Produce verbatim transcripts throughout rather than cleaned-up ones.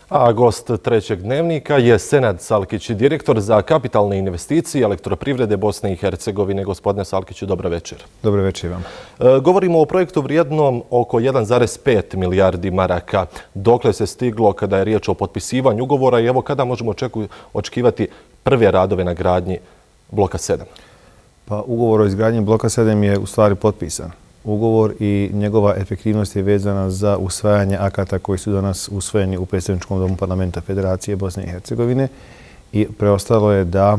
A gost trećeg dnevnika je Senad Salkić, direktor za kapitalne investicije Elektroprivrede Bosne i Hercegovine. Gospodine Salkiću, dobro večer. Dobro večer vam. E, govorimo o projektu vrijednom oko jedan zarez pet milijardi maraka. Dokle se stiglo kada je riječ o potpisivanju ugovora i evo kada možemo očekivati prve radove na gradnji bloka sedam? Pa ugovor o izgradnji bloka sedam je u stvari potpisan. Ugovor i njegova efektivnost je vezana za usvajanje akata koji su danas usvojeni u Predstavničkom domu Parlamenta Federacije Bosne i Hercegovine i preostalo je da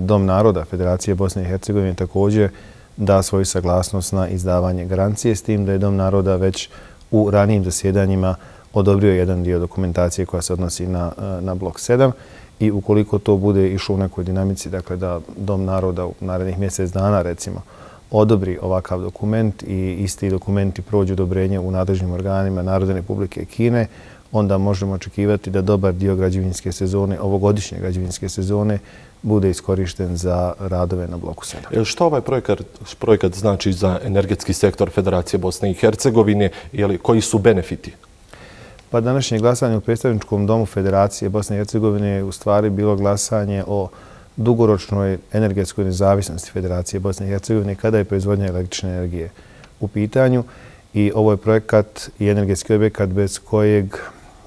Dom naroda Federacije Bosne i Hercegovine također da svoju saglasnost na izdavanje garancije, s tim da je Dom naroda već u ranijim zasjedanjima odobrio jedan dio dokumentacije koja se odnosi na, na blok sedam i ukoliko to bude išlo u nekoj dinamici, dakle da Dom naroda u narednih mjesec dana recimo odobri ovakav dokument i isti dokumenti prođu odobrenje u nadležnim organima Narodne Republike Kine, onda možemo očekivati da dobar dio građevinske sezone, ovogodišnje građevinske sezone, bude iskorišten za radove na bloku sedam. Što ovaj projekat, projekat znači za energetski sektor Federacije Bosne i Hercegovine ili koji su benefiti? Pa današnje glasanje u Predstavničkom domu Federacije Bosne i Hercegovine je u stvari bilo glasanje o dugoročnoj energetskoj nezavisnosti Federacije Bosne i Hercegovine kada je proizvodnja električne energije u pitanju. I ovo je projekat i energetski objekat bez kojeg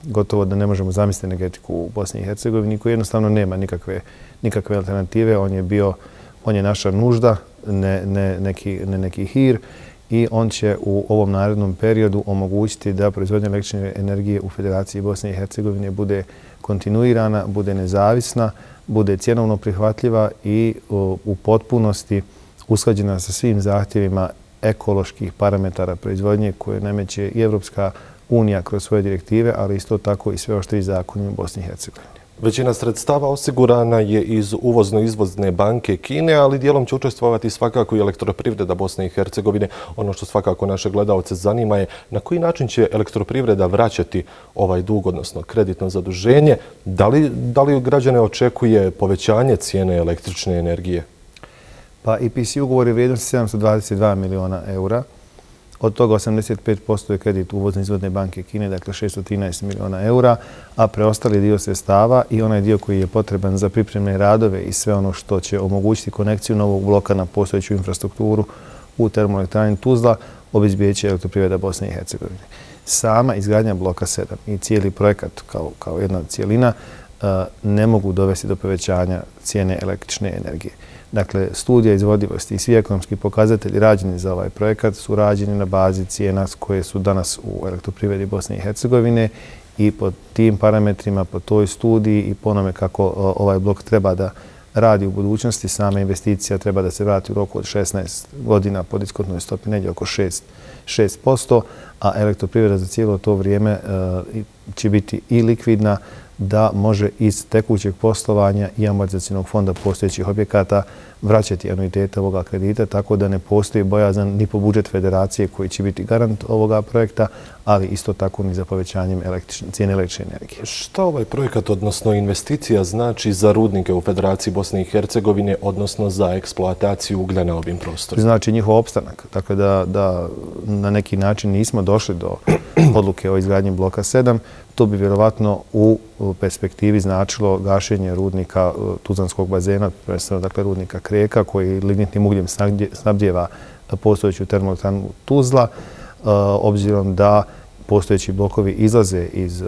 gotovo da ne možemo zamisliti energetiku u Bosni i Hercegovini, koji jednostavno nema nikakve, nikakve alternative. On je bio, on je naša nužda, ne, ne, neki, ne neki hir i on će u ovom narednom periodu omogućiti da proizvodnja električne energije u Federaciji Bosne i Hercegovine bude kontinuirana, bude nezavisna, bude cjenovno prihvatljiva i u potpunosti usklađena sa svim zahtjevima ekoloških parametara proizvodnje koje nameće i Evropska unija kroz svoje direktive, ali isto tako i sve oštriji zakoni u Bosni i Hercegovini. Većina sredstava osigurana je iz uvozno-izvozne banke Kine, ali dijelom će učestvovati svakako i Elektroprivreda Bosne i Hercegovine. Ono što svakako naše gledalce zanima je na koji način će Elektroprivreda vraćati ovaj dug, odnosno kreditno zaduženje. Da li, da li građane očekuje povećanje cijene električne energije? Pa E P C ugovor je vrijednosti sedamsto dvadeset dva miliona eura. Od toga osamdeset pet posto je kredit uvozno-izvozne banke Kine, dakle šesto trinaest miliona eura, a preostali dio sredstava i onaj dio koji je potreban za pripremne radove i sve ono što će omogućiti konekciju novog bloka na postojeću infrastrukturu u termoelektrani Tuzla obezbijeće Elektroprivreda Bosne i Hercegovine. Sama izgradnja bloka sedam i cijeli projekat kao, kao jedna cijelina ne mogu dovesti do povećanja cijene električne energije. Dakle, studija izvodivosti i svi ekonomski pokazatelji rađeni za ovaj projekat su rađeni na bazi cijena koje su danas u Elektroprivredi Bosne i Hercegovine i po tim parametrima, po toj studiji i po onome kako ovaj blok treba da radi u budućnosti, sama investicija treba da se vrati u roku od šesnaest godina po diskontnoj stopi negdje oko šest posto, a Elektroprivreda za cijelo to vrijeme će biti i likvidna da može iz tekućeg poslovanja i amortizacionog fonda postojećih objekata vraćati anuitete ovoga kredita, tako da ne postoji bojazan ni po budžet federacije koji će biti garant ovoga projekta, ali isto tako ni za povećanjem cijene električne energije. Šta ovaj projekat, odnosno investicija, znači za rudnike u Federaciji Bosne i Hercegovine, odnosno za eksploataciju uglja na ovim prostorima? Znači njihov opstanak. Dakle, da, da na neki način nismo došli do odluke o izgradnji bloka sedam, to bi vjerovatno u perspektivi značilo gašenje rudnika Tuzlanskog bazena, prvenstveno dakle rudnika Kreka, koji lignitnim ugljem snabdijeva postojeću termoelektranu Tuzla, obzirom da postojeći blokovi izlaze iz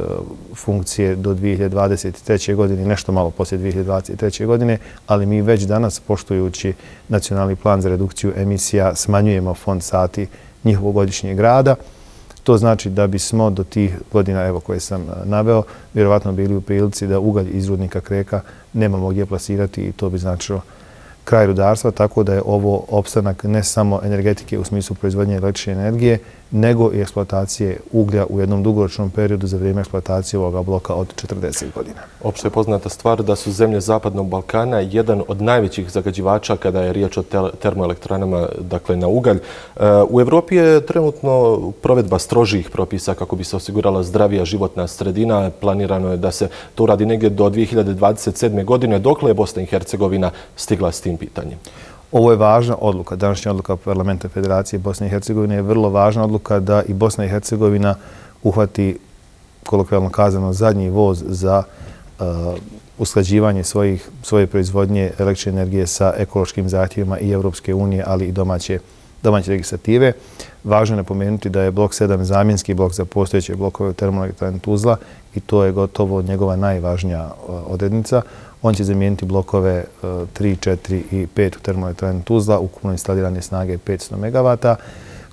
funkcije do dvije hiljade dvadeset treće. godine, nešto malo poslije dvije hiljade dvadeset treće. godine, ali mi već danas, poštujući nacionalni plan za redukciju emisija, smanjujemo fond sati njihovog godišnjeg rada. To znači da bismo do tih godina, evo koje sam naveo, vjerovatno bili u prilici da ugalj iz rudnika Kreka nemamo gdje plasirati i to bi značilo kraj rudarstva, tako da je ovo opstanak ne samo energetike u smislu proizvodnje električne energije, nego i eksploatacije uglja u jednom dugoročnom periodu za vrijeme eksploatacije ovoga bloka od četrdeset godina. Opšte je poznata stvar da su zemlje Zapadnog Balkana jedan od najvećih zagađivača kada je riječ o termoelektranama, dakle na ugalj. U Evropi je trenutno provedba strožijih propisa kako bi se osigurala zdravija životna sredina. Planirano je da se to uradi negdje do dvije hiljade dvadeset sedme. godine. Dokle je Bosna i Hercegovina stigla s tim pitanjem? Ovo je važna odluka. Današnja odluka Parlamenta Federacije Bosne i Hercegovine je vrlo važna odluka da i Bosna i Hercegovina uhvati kolokvijalno kazano, zadnji voz za usklađivanje svoje proizvodnje električne energije sa ekološkim zahtjevima i Europske unije, ali i domaće legislative. Važno je napomenuti da je blok sedam zamjenski blok za postojeće blokove u termoelektrani Tuzla i to je gotovo njegova najvažnija odrednica. On će zamijeniti blokove tri, četiri i pet u termoelektrani Tuzla, ukupno instalirane snage petsto megavata,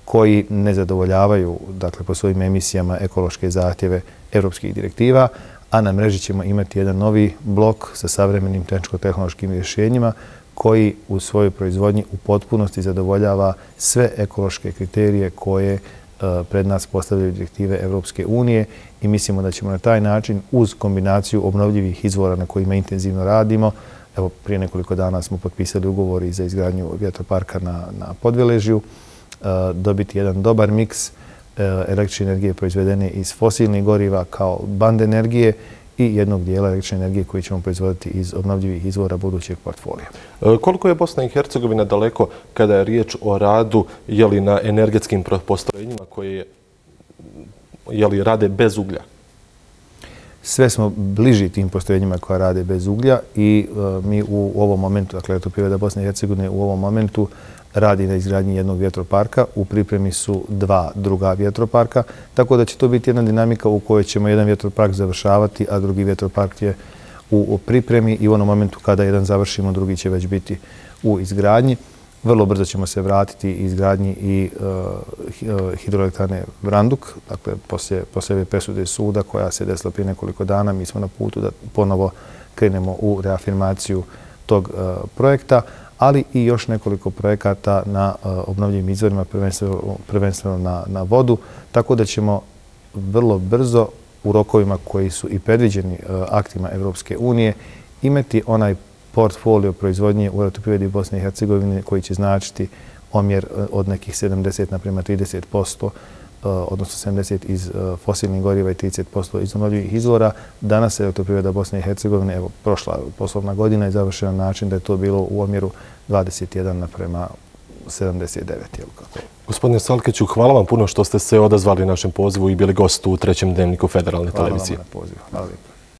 koji ne zadovoljavaju, dakle, po svojim emisijama ekološke zahtjeve europskih direktiva, a na mreži ćemo imati jedan novi blok sa savremenim tehničko-tehnološkim rješenjima koji u svojoj proizvodnji u potpunosti zadovoljava sve ekološke kriterije koje pred nas postavljaju direktive Europske unije i mislimo da ćemo na taj način uz kombinaciju obnovljivih izvora na kojima intenzivno radimo, evo prije nekoliko dana smo potpisali ugovor i za izgradnju vjetroparka na, na Podveležju, dobiti jedan dobar miks električne energije proizvedene iz fosilnih goriva kao band energije i jednog dijela električne energije koji ćemo proizvoditi iz obnovljivih izvora budućeg portfolija. Koliko je Bosna i Hercegovina daleko kada je riječ o radu jeli, na energetskim postrojenjima koje jeli, rade bez uglja? Sve smo bliži tim postrojenjima koja rade bez uglja i uh, mi u ovom momentu, dakle Elektroprivreda Bosne i Hercegovine u ovom momentu radi na izgradnji jednog vjetroparka. U pripremi su dva druga vjetroparka, tako da će to biti jedna dinamika u kojoj ćemo jedan vjetropark završavati, a drugi vjetropark je u, u pripremi i u onom momentu kada jedan završimo, drugi će već biti u izgradnji. Vrlo brzo ćemo se vratiti izgradnji i uh, hidroelektrane Vranduk, dakle poslije, poslije ove presude suda koja se desila prije nekoliko dana, mi smo na putu da ponovo krenemo u reafirmaciju tog uh, projekta, ali i još nekoliko projekata na uh, obnovljivim izvorima, prvenstveno, prvenstveno na, na vodu, tako da ćemo vrlo brzo u rokovima koji su i predviđeni uh, aktima Europske unije imati onaj portfolio proizvodnje u Elektroprivredi Bosne i Hercegovine koji će značiti omjer od nekih sedamdeset naprema trideset posto, odnosno sedamdeset iz fosilnih goriva i trideset posto iz obnovljivih izvora. Danas Elektroprivreda Bosne i Hercegovine, evo, prošla poslovna godina je završena na način da je to bilo u omjeru dvadeset jedan naprema sedamdeset devet. Gospodine Salkeću, hvala vam puno što ste se odazvali našem pozivu i bili gost u trećem dnevniku Federalne televizije. Hvala vam na pozivu. Hvala lijepo.